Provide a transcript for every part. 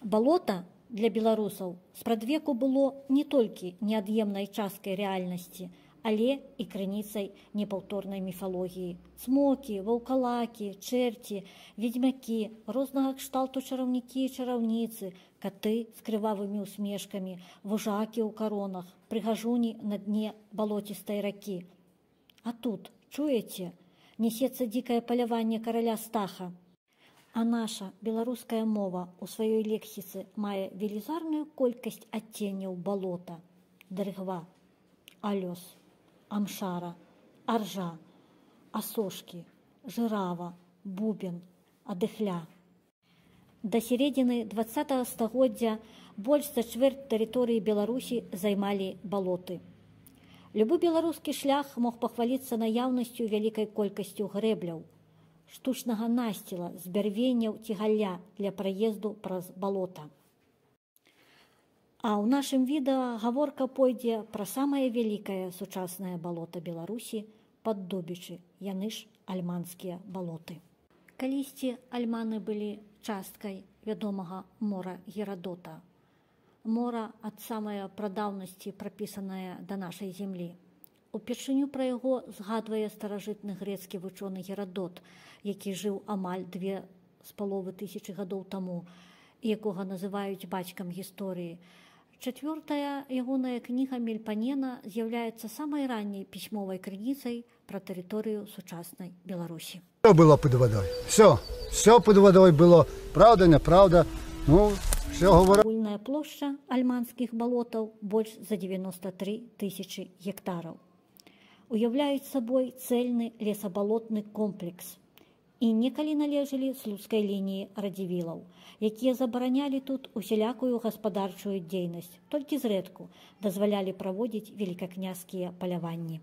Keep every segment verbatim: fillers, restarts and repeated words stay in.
Балота для беларусаў спрадвеку было не толькі неад'емнай часткай рэальнасці, але і крыніцай непаўторнай міфалогіі. Цмокі, ваўкалакі, чэрці, ведзьмакі, рознага кшталту чараўнікі і чараўніцы, каты з крывавымі усмешкамі, вужакі ў каронах, прыгажуні на дне балоцістай ракі. А тут, чуеце, несецца дзікае паляванне караля Стаха. А наша беларуская мова ў сваёй лексіцы мае велізарную колькасць адценняў балота, дрыгва, алёс, амшара, аржа, асошкі, жырава, бубен, адыхля. Да сярэдзіны дваццатага стагоддзя больш за чвэрць тэрыторыі Беларусі займалі балоты. Любы беларускі шлях мог пахваліцца наяўнасцю вялікай колькасцю грэбляў, штучнага насціла з бярвенняў ці галля для праезду праз балота. А ў нашым відэа гаворка пойдзе пра самае вялікае сучаснае балота Беларусі Паддубічы, яны ж альманскія балоты. Калісьці альманы былі часткай вядомага мора Герадота, мора ад самай прадаўнасці прапісаная да нашай зямлі. Упершыню пра яго згадвае старажытны грэцкі вучоны Герадот, які жыў амаль две з паловы тысячы гадоў таму, якога называюць бацькам гісторыі. Чацвёртая ягоная кніга Мельпанена з'яўляецца самай ранняй пісьмовай крыніцай пра тэрыторыю сучаснай Беларусі. Все было под водой. Все. Все под водой было. Правда, неправда. Ну, все говорят. Агульная плошча альманскіх балотаў больш за дзевяноста тры тысячы гектараў. Уяўляюць сабой цэльны лесабалотны комплекс і некалі належалі слуцкай лініі радзівілаў, якія забаранялі тут усялякую гаспадарчую дзейнасць, толькі зрэдку дазвалялі праводзіць велікакняскія паляванні.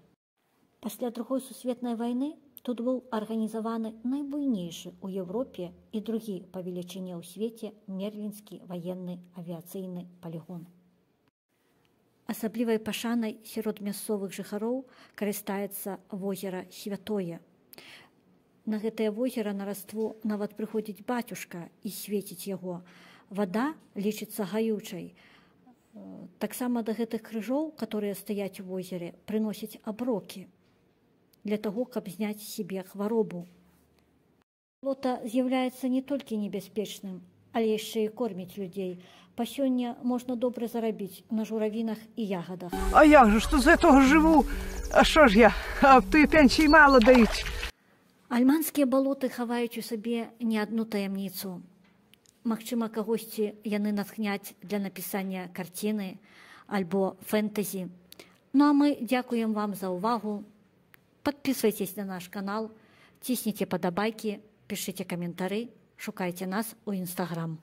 Пасля Другой сусветнай вайны тут быў арганізаваны найбуйнейшы ў Еўропе і другі па велічыні ў свеце мерлінскі ваенны авіяцыйны палігон. Асаблівай пашанай сярод мясцовых жыхароў карыстаецца возера Святое. На гэтае возера на раству нават прыходзіць бацюшка і свеціць яго. Вада лічыцца гаючай. Таксама да гэтых крыжоў, которые стаяць у возеры, прыносяць аброкі для таго, каб зняць сябе хваробу. Балота з'яўляецца не толькі небяспечным, але яшчэ і корміць людзей. Па сёння можна добра зарабіць на журавінах і ягадах. А як же, што з гэтага жыву? А што ж я? А ты пенсій мала даюць. Альманскія балоты хаваюць у сабе не адну таямніцу. Магчыма, кагосьці яны натхняць для напісання карціны альбо фэнтэзі. Ну а мы дзякуем вам за ўвагу. Подписывайтесь на наш канал, цісніце падабайкі, пішыце каментары, шукайце нас у Інстаграм.